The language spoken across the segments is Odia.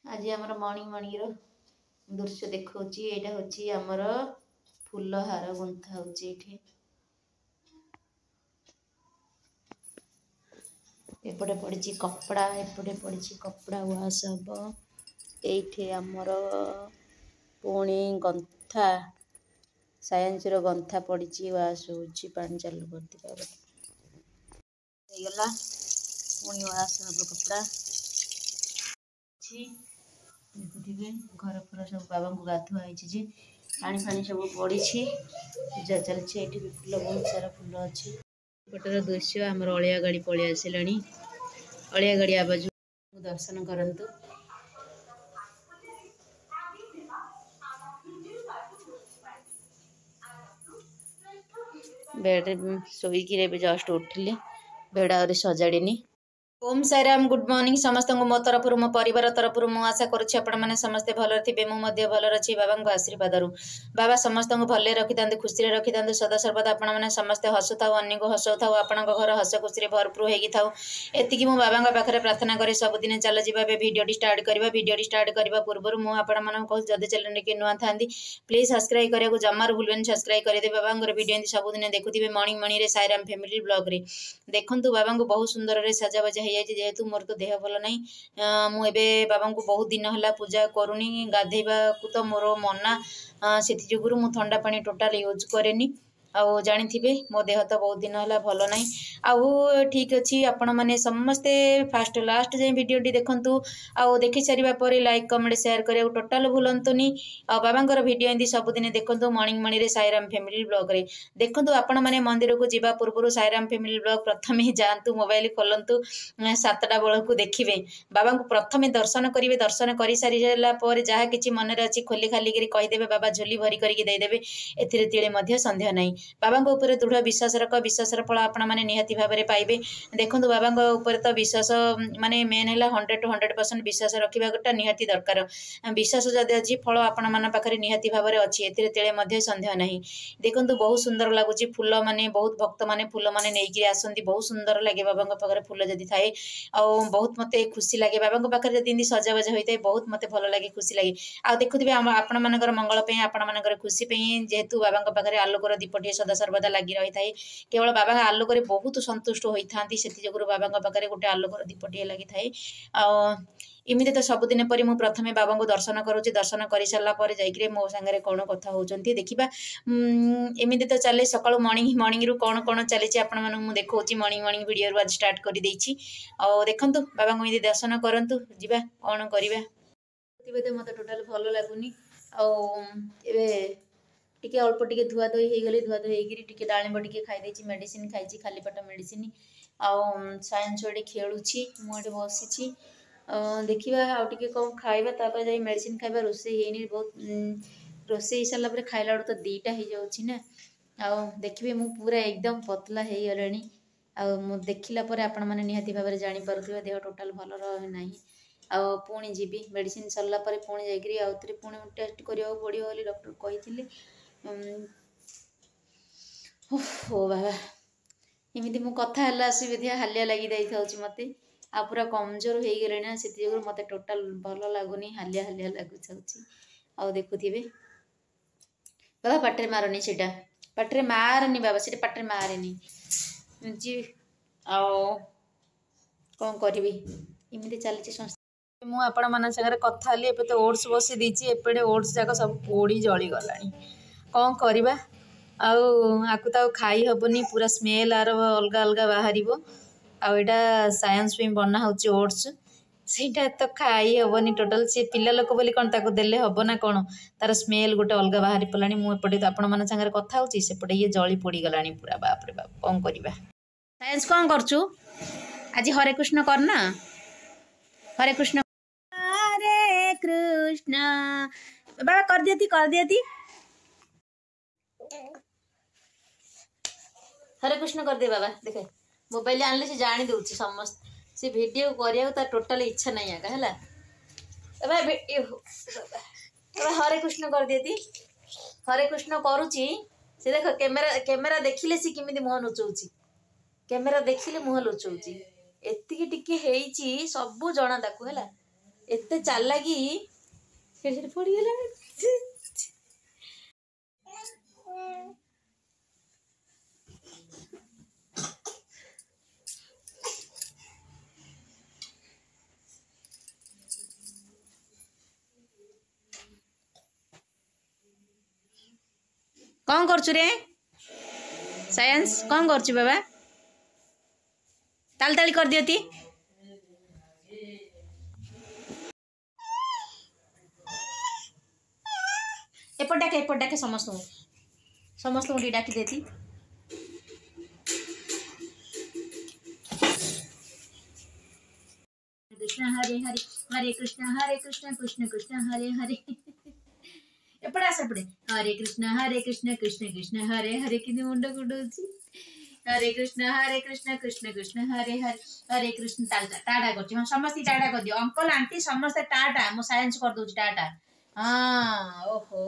ଆଜି ଆମର ମର୍ଣ୍ଣିଂ ମର୍ଣ୍ଣିଂର ଦୃଶ୍ୟ ଦେଖାଉଛି। ଏଇଟା ହେଉଛି ଆମର ଫୁଲ ହାର ଗୁନ୍ଥା ହେଉଛି ଏଇଠି। ଏପଟେ ପଡ଼ିଛି କପଡ଼ା, ଏପଟେ ପଡ଼ିଛି କପଡ଼ା ୱାଶ୍ ହେବ। ଏଇଠି ଆମର ପୁଣି ଗନ୍ଥା, ସାୟାନ୍ସର ଗନ୍ଥା ପଡ଼ିଛି, ୱାଶ୍ ହେଉଛି। ପାଣି ଚାଲୁ କରିଥିବା ହେଇଗଲା, ପୁଣି ୱାଶ୍ ହେବ କପଡ଼ା ଅଛି। ଦେଖୁଥିବେ ଘର ଫର ସବୁ ବାବାଙ୍କୁ ଗାଧୁଆ ହେଇଛି ଯେ ପାଣି ଫାଣି ସବୁ ପଡ଼ିଛି, ପୂଜା ଚାଲିଛି। ଏଇଠି ବି ଫୁଲ, ବହୁତ ସାରା ଫୁଲ ଅଛି। ଏପଟର ଦୃଶ୍ୟ, ଆମର ଅଳିଆ ଗାଡ଼ି ପଳେଇ ଆସିଲାଣି। ଅଳିଆ ଗାଡ଼ି ଆବାଜ ଦର୍ଶନ କରନ୍ତୁ। ବେଡ଼ରେ ଶୋଇକିରି ଏବେ ଜଷ୍ଟ ଉଠିଲି, ବେଡ଼ ଆହୁରି ସଜାଡ଼ିନି। ଓମ୍ ସାଇରାମ, ଗୁଡ୍ ମର୍ଣ୍ଣିଂ ସମସ୍ତଙ୍କୁ ମୋ ତରଫରୁ, ମୋ ପରିବାର ତରଫରୁ। ମୁଁ ଆଶା କରୁଛି ଆପଣମାନେ ସମସ୍ତେ ଭଲରେ ଥିବେ। ମୁଁ ମଧ୍ୟ ଭଲରେ ଅଛି ବାବାଙ୍କ ଆଶୀର୍ବାଦରୁ। ବାବା ସମସ୍ତଙ୍କୁ ଭଲରେ ରଖିଥାନ୍ତୁ, ଖୁସିରେ ରଖିଥାନ୍ତୁ। ସଦାସର୍ବଦା ଆପଣମାନେ ସମସ୍ତେ ହସୁଥାଉ, ଅନ୍ୟକୁ ହସଉଥାଉ, ଆପଣଙ୍କ ଘର ହସ ଖୁସିରେ ଭରପୁର ହେଇକି ଥାଉ, ଏତିକି ମୁଁ ବାବାଙ୍କ ପାଖରେ ପ୍ରାର୍ଥନା କରେ ସବୁଦିନ। ଚାଲ ଯିବା, ଏବେ ଭିଡ଼ିଓଟି ଷ୍ଟାର୍ଟ କରିବା। ଭିଡ଼ିଓଟି ଷ୍ଟାର୍ଟ କରିବା ପୂର୍ବରୁ ମୁଁ ଆପଣମାନଙ୍କୁ କହୁଛି, ଯଦି ଚ୍ୟାନେଲରେ କିଏ ନୂଆ ଥାନ୍ତି, ପ୍ଲିଜ୍ ସବସ୍କ୍ରାଇବ୍ କରିବାକୁ ଜମାରୁ ଭୁଲିବେନି, ସବସ୍କ୍ରାଇବ୍ କରିଦେବେ। ବାବାଙ୍କର ଭିଡ଼ିଓ ଏମିତି ସବୁଦିନ ଦେଖୁଥିବେ ମର୍ଣ୍ଣିଂ ମର୍ଣ୍ଣିଂରେ ସାଇରାମ ଫ୍ୟାମିଲି ବ୍ଲଗ୍ରେ। ଦେଖନ୍ତୁ, ବାବାଙ୍କୁ ବହୁତ ସୁନ୍ଦରରେ ସାଜାବାଜା ହେଇଯାଇଛି। ଯେହେତୁ ମୋର ତ ଦେହ ଭଲ ନାହିଁ, ମୁଁ ଏବେ ବାବାଙ୍କୁ ବହୁତ ଦିନ ହେଲା ପୂଜା କରୁନି। ଗାଧେଇବାକୁ ତ ମୋର ମନା, ସେଥି ଯୋଗୁରୁ ମୁଁ ଥଣ୍ଡା ପାଣି ଟୋଟାଲ୍ ୟୁଜ୍ କରେନି। ଆଉ ଜାଣିଥିବେ, ମୋ ଦେହ ତ ବହୁତ ଦିନ ହେଲା ଭଲ ନାହିଁ। ଆଉ ଠିକ୍ ଅଛି, ଆପଣମାନେ ସମସ୍ତେ ଫାଷ୍ଟ ଲାଷ୍ଟ ଯାଏଁ ଭିଡ଼ିଓଟି ଦେଖନ୍ତୁ, ଆଉ ଦେଖି ସାରିବା ପରେ ଲାଇକ୍, କମେଣ୍ଟ, ସେୟାର କରିବାକୁ ଟୋଟାଲ୍ ଭୁଲନ୍ତୁନି। ଆଉ ବାବାଙ୍କର ଭିଡ଼ିଓ ଏମିତି ସବୁଦିନ ଦେଖନ୍ତୁ ମର୍ଣ୍ଣିଂ ମର୍ଣ୍ଣିଂରେ ସାଇରାମ ଫ୍ୟାମିଲି ବ୍ଲଗ୍ରେ। ଦେଖନ୍ତୁ, ଆପଣମାନେ ମନ୍ଦିରକୁ ଯିବା ପୂର୍ବରୁ ସାଇରାମ ଫ୍ୟାମିଲି ବ୍ଲଗ୍ ପ୍ରଥମେ ଯାଆନ୍ତୁ, ମୋବାଇଲ ଖୋଲନ୍ତୁ 7ଟା ବେଳକୁ, ଦେଖିବେ, ବାବାଙ୍କୁ ପ୍ରଥମେ ଦର୍ଶନ କରିବେ। ଦର୍ଶନ କରିସାରିଲା ପରେ ଯାହା କିଛି ମନରେ ଅଛି ଖୋଲି ଖାଲିକିରି କହିଦେବେ, ବାବା ଝୋଲି ଭରି କରିକି ଦେଇଦେବେ, ଏଥିରେ ତିଳେ ମଧ୍ୟ ସନ୍ଦେହ ନାହିଁ। ବାବାଙ୍କ ଉପରେ ଦୃଢ଼ ବିଶ୍ୱାସ ରଖ, ବିଶ୍ୱାସର ଫଳ ଆପଣମାନେ ନିହାତି ଭାବରେ ପାଇବେ। ଦେଖନ୍ତୁ, ବାବାଙ୍କ ଉପରେ ତ ବିଶ୍ୱାସ ମାନେ ମେନ୍ ହେଲା 100 ଟୁ 100% ବିଶ୍ୱାସ ରଖିବାଟା ନିହାତି ଦରକାର। ବିଶ୍ୱାସ ଯଦି ଅଛି, ଫଳ ଆପଣମାନଙ୍କ ପାଖରେ ନିହାତି ଭାବରେ ଅଛି, ଏଥିରେ ତିଳେ ମଧ୍ୟ ସନ୍ଦେହ ନାହିଁ। ଦେଖନ୍ତୁ, ବହୁତ ସୁନ୍ଦର ଲାଗୁଛି ଫୁଲ ମାନେ, ବହୁତ ଭକ୍ତମାନେ ଫୁଲମାନେ ନେଇକି ଆସନ୍ତି। ବହୁତ ସୁନ୍ଦର ଲାଗେ ବାବାଙ୍କ ପାଖରେ ଫୁଲ ଯଦି ଥାଏ, ଆଉ ବହୁତ ମୋତେ ଖୁସି ଲାଗେ ବାବାଙ୍କ ପାଖରେ ଯଦି ଏମିତି ସଜାବାଜ ହୋଇଥାଏ। ବହୁତ ମୋତେ ଭଲ ଲାଗେ, ଖୁସି ଲାଗେ। ଆଉ ଦେଖୁଥିବେ, ଆମ ଆପଣମାନଙ୍କର ମଙ୍ଗଳ ପାଇଁ, ଆପଣମାନଙ୍କର ଖୁସି ପାଇଁ ଯେହେତୁ ବାବାଙ୍କ ପାଖରେ ଆଲୋକର ଦୀପଟିଏ ସଦାସର୍ବଦା ଲାଗି ରହିଥାଏ। କେବଳ ବାବାଙ୍କ ଆଲୋକରେ ବହୁତ ସନ୍ତୁଷ୍ଟ ହୋଇଥାନ୍ତି, ସେଥିଯୋଗୁଁ ବାବାଙ୍କ ପାଖରେ ଗୋଟେ ଆଲୋକର ଦୀପଟିଏ ଲାଗିଥାଏ। ଆଉ ଏମିତି ତ ସବୁଦିନ ପରି ମୁଁ ପ୍ରଥମେ ବାବାଙ୍କୁ ଦର୍ଶନ କରୁଛି। ଦର୍ଶନ କରିସାରିଲା ପରେ ଯାଇକିରି ମୋ ସାଙ୍ଗରେ କ'ଣ କଥା ହେଉଛନ୍ତି ଦେଖିବା। ଏମିତି ତ ଚାଲେ ସକାଳୁ ମର୍ଣ୍ଣିଂ ମର୍ଣ୍ଣିଂରୁ କ'ଣ କ'ଣ ଚାଲିଛି ଆପଣମାନଙ୍କୁ ମୁଁ ଦେଖାଉଛି। ମର୍ଣ୍ଣିଂ ମର୍ଣ୍ଣିଂ ଭିଡ଼ିଓରୁ ଆଜି ଷ୍ଟାର୍ଟ କରିଦେଇଛି। ଆଉ ଦେଖନ୍ତୁ, ବାବାଙ୍କୁ ଏମିତି ଦର୍ଶନ କରନ୍ତୁ। ଯିବା, କ'ଣ କରିବା। ତ ମୋତେ ଟୋଟାଲ୍ ଭଲ ଲାଗୁନି। ଆଉ ଏବେ ଟିକେ ଅଳ୍ପ ଟିକେ ଧୁଆ ଧୋଇ ହେଇଗଲି। ଧୁଆ ଧୋଇ ହେଇକିରି ଟିକେ ଡାଳିମ୍ବ ଟିକେ ଖାଇ ଦେଇଛି, ମେଡ଼ିସିନ ଖାଇଛି, ଖାଲି ପେଟ ମେଡ଼ିସିନ। ଆଉ ସାଇନ୍ସ ଏଠି ଖେଳୁଛି, ମୁଁ ଏଠି ବସିଛି। ଦେଖିବା ଆଉ ଟିକେ କ'ଣ ଖାଇବା, ତାପରେ ଯାଇ ମେଡ଼ିସିନ ଖାଇବା। ରୋଷେଇ ହେଇନି ବହୁତ, ରୋଷେଇ ହେଇସାରିଲା ପରେ ଖାଇଲା ବେଳକୁ ତ 2ଟା ହେଇଯାଉଛି ନା। ଆଉ ଦେଖିବେ, ମୁଁ ପୁରା ଏକଦମ ପତଲା ହେଇଗଲେଣି। ଆଉ ମୁଁ ଦେଖିଲା ପରେ ଆପଣମାନେ ନିହାତି ଭାବରେ ଜାଣିପାରୁଥିବେ, ଦେହ ଟୋଟାଲ୍ ଭଲ ନାହିଁ। ଆଉ ପୁଣି ଯିବି ମେଡ଼ିସିନ ସରିଲା ପରେ, ପୁଣି ଯାଇକିରି ଆଉ ଥରେ ପୁଣି ଟେଷ୍ଟ କରିବାକୁ ପଡ଼ିବ ବୋଲି ଡକ୍ଟର କହିଥିଲେ। ଓ ବାବା, ଏମିତି ମୁଁ କଥା ହେଲା ଆସିବି ହାଲିଆ ଲାଗି ଯାଇଥାଉଛି ମୋତେ। ଆଉ ପୁରା କମଜୋର ହେଇଗଲେଣି ନା, ସେଥିଯୋଗୁଁ ମୋତେ ଟୋଟାଲ୍ ଭଲ ଲାଗୁନି, ହାଲିଆ ହାଲିଆ ଲାଗୁଥାଉଛି। ଆଉ ଦେଖୁଥିବେ, ବାବା ପାଟିରେ ମାରନି, ସେଇଟା ପାଟିରେ ମାରନି ବାବା, ସେଇଟା ପାଟିରେ ମାରେନି। ଆଉ କ'ଣ କରିବି, ଏମିତି ଚାଲିଛି ସଂସ୍ଥା। ମୁଁ ଆପଣମାନଙ୍କ ସାଙ୍ଗରେ କଥା ହେଲି, ଏବେ ତ ଓଟ୍ସ ବସେଇ ଦେଇଛି, ଏପଟେ ଓଟ୍ସ ଯାକ ସବୁ ପୋଡ଼ି ଜଳିଗଲାଣି। କ'ଣ କରିବା ଆଉ, ଆକୁ ତ ଆଉ ଖାଇ ହେବନି, ପୁରା ସ୍ମେଲ୍ ଆର ଅଲଗା ଅଲଗା ବାହାରିବ। ଆଉ ଏଇଟା ସାଇନ୍ସ ପାଇଁ ବନା ହେଉଛି ଓଟ୍ସ, ସେଇଟା ତ ଖାଇ ହେବନି ଟୋଟାଲ୍। ସିଏ ପିଲା ଲୋକ ବୋଲି କ'ଣ ତାକୁ ଦେଲେ ହେବ ନା କ'ଣ? ତାର ସ୍ମେଲ୍ ଗୋଟେ ଅଲଗା ବାହାରି ପଡ଼ିଲାଣି। ମୁଁ ଏପଟେ ଆପଣମାନଙ୍କ ସାଙ୍ଗରେ କଥା ହେଉଛି, ସେପଟେ ଇଏ ଜଳି ପୋଡ଼ିଗଲାଣି ପୁରା। ବାପରେ ବାପ, କ'ଣ କରିବା? ସାଇନ୍ସ, କ'ଣ କରୁଛୁ ଆଜି? ହରେ କୃଷ୍ଣ କରନା, ହରେ କୃଷ୍ଣ, ହରେ କୃଷ୍ଣ ବାବା କରିଦିଅନ୍ତି, କରିଦିଅନ୍ତି। ହରେ କୃଷ୍ଣ କରିଦେ ବାବା। ଦେଖେ, ମୋବାଇଲ ଆଣିଲେ ସେ ଜାଣି ଦେଉଛି ସମସ୍ତେ। ସେ ଭିଡ଼ିଓ କରିବାକୁ ତାର ଟୋଟାଲ ଇଚ୍ଛା ନାହିଁ ଆକା ହେଲା। ବାବା ହରେ କୃଷ୍ଣ କରିଦିଅନ୍ତି, ହରେ କୃଷ୍ଣ କରୁଛି ସେ। ଦେଖ, କ୍ୟାମେରା କ୍ୟାମେରା ଦେଖିଲେ ସେ କେମିତି ମୁହଁ ଲୁଚଉଛି, କ୍ୟାମେରା ଦେଖିଲେ ମୁହଁ ଲୁଚଉଛି। ଏତିକି ଟିକେ ହେଇଛି, ସବୁ ଜଣା ତାକୁ ହେଲା। ଏତେ ଚାଲାକି, ସେଠି ସେଠି ପଡ଼ିଗଲା। କ'ଣ କରୁଛୁ ରେ ସାଇନ୍ସ? କ'ଣ କରୁଛୁ ବାବା? ତାଳି ତାଳି କରିଦିଅତି। ଏପଟ ଡାକେ, ଏପଟ ଡାକେ ସମସ୍ତଙ୍କୁ, ସମସ୍ତଙ୍କୁ ଟିକେ ଡାକି ଦେତି। କୃଷ୍ଣ ହରେ ହରେ, ହରେ କୃଷ୍ଣ ହରେ କୃଷ୍ଣ କୃଷ୍ଣ କୃଷ୍ଣ ହରେ ହରେ। ଏପଟେ ଆସ, ଏପଟେ। ହରେ କୃଷ୍ଣ ହରେ କୃଷ୍ଣ କୃଷ୍ଣ କୃଷ୍ଣ ହରେ ହରେ। କିନ୍ତୁ ମୁଣ୍ଡ କୁଣ୍ଡଉଛି। ହରେ କୃଷ୍ଣ ହରେ କୃଷ୍ଣ କୃଷ୍ଣ କୃଷ୍ଣ ହରେ ହରେ, ହରେ କୃଷ୍ଣ। ଟାଟା କରୁଛି। ହଁ, ସମସ୍ତେ ଟାଟା କରିଦିଅ। ଅଙ୍କଲ, ଆଣ୍ଟି ସମସ୍ତେ ଟାଟା। ମୁଁ ସାଇନ୍ସ କରିଦଉଛି ଟାଟା। ହଁ, ଓହୋ।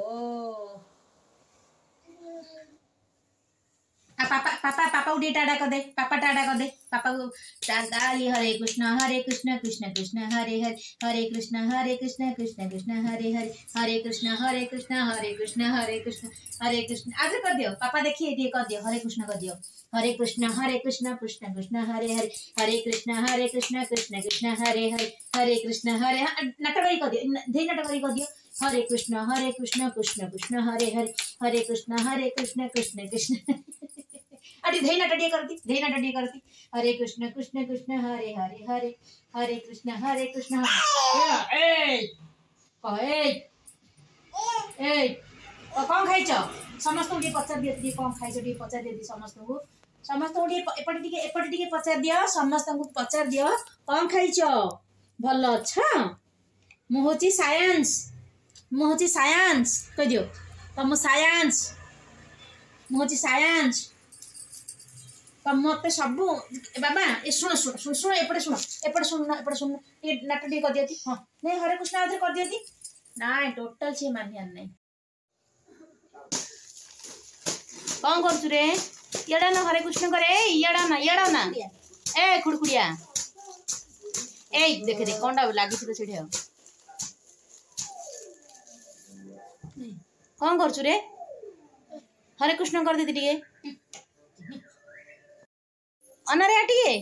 ପାପା, ପାପା, ପାପାକୁ ଟିକେ ଟାଟା କରିଦେ। ପାପା, ଟାଟା କରିଦେ ପାପାକୁ। ତାଳି। ହରେ କୃଷ୍ଣ ହରେ କୃଷ୍ଣ କୃଷ୍ଣ କୃଷ୍ଣ ହରେ ହରେ, ହରେ କୃଷ୍ଣ ହରେ କୃଷ୍ଣ କୃଷ୍ଣ କୃଷ୍ଣ ହରେ ହରେ, ହରେ କୃଷ୍ଣ ହରେ କୃଷ୍ଣ ହରେ କୃଷ୍ଣ ହରେ କୃଷ୍ଣ ହରେ କୃଷ୍ଣ। ଆଉଥରେ କରିଦିଅ। ପାପା ଦେଖି ଟିକେ କରିଦିଅ। ହରେ କୃଷ୍ଣ କରିଦିଅ। ହରେ କୃଷ୍ଣ ହରେ କୃଷ୍ଣ କୃଷ୍ଣ କୃଷ୍ଣ ହରେ ହରେ, ହରେ କୃଷ୍ଣ ହରେ କୃଷ୍ଣ କୃଷ୍ଣ କୃଷ୍ଣ ହରେ ହରେ, ହରେ କୃଷ୍ଣ ହରେ। ନାଟକ କରି କରିଦିଅ, ଧେଇ ନାଟକ କରି କରିଦିଅ। ହରେ କୃଷ୍ଣ ହରେ କୃଷ୍ଣ କୃଷ୍ଣ କୃଷ୍ଣ ହରେ ହରେ, ହରେ କୃଷ୍ଣ ହରେ କୃଷ୍ଣ କୃଷ୍ଣ କୃଷ୍ଣ। ଆଉ ଟିକେ ଧେଇ ନାଟ ଟିକେ କରନ୍ତି, ଧେଇ ନାଟ ଟିକେ କରନ୍ତି। ହରେ କୃଷ୍ଣ କୃଷ୍ଣ କୃଷ୍ଣ ହରେ ହରେ ହରେ, ହରେ କୃଷ୍ଣ ହରେ କୃଷ୍ଣ। ଏଇ କହ, ଏଇ ଏଇ କ'ଣ ଖାଇଛ? ସମସ୍ତଙ୍କୁ ଟିକେ ପଚାରି ଦିଅ। ଟିକେ କ'ଣ ଖାଇଛ ଟିକେ ପଚାରି ଦିଅ ସମସ୍ତଙ୍କୁ। ସମସ୍ତଙ୍କୁ ଟିକେ ଏପଟେ ଟିକେ, ଏପଟେ ଟିକେ ପଚାରି ଦିଅ। ସମସ୍ତଙ୍କୁ ପଚାରି ଦିଅ, କ'ଣ ଖାଇଛ? ଭଲ ଅଛ? ମୁଁ ହଉଛି ସାଇନ୍ସ, ମୁଁ ହଉଛି ସାଇନ୍ସ କହିଦିଅ ତ। ମୁଁ ସାଇନ୍ସ, ମୁଁ ହଉଛି ସାଇନ୍ସ ତ। ମତେ ସବୁ ବାବା। ଏ ଶୁଣ ଶୁଣ ଶୁଣ ଶୁଣ, ଏପଟେ ଶୁଣ, ଏପଟେ ଶୁଣ, ଏପଟେ ଶୁଣ। ଟିକେ ନାଟ ଟିକେ କରିଦିଅନ୍ତି। ହଁ, ନାଇଁ, ହରେ କୃଷ୍ଣ ଆଉଥରେ କରିଦିଅନ୍ତି। ନାଇଁ, ଟୋଟାଲ ସିଏ ମାନିବାର ନାଇଁ। କ'ଣ କରୁଛୁ ରେ? ଇଆଡ଼ା ନା, ହରେ କୃଷ୍ଣ କରେ। ଇଆଡ଼ା ନା, ଇଆଡ଼ା ନା। ଏ ଖୁଡ଼ଖୁଡ଼ିଆ, ଏଇ ଦେଖେ ଦେଖ, କ'ଣଟା ଲାଗିଛି ତ ସେଠି। ଆଉ କ'ଣ କରୁଛୁ ରେ? ହରେ କୃଷ୍ଣ କରିଦେଦି ଟିକେ। ଅନାରେ ଟିକେ।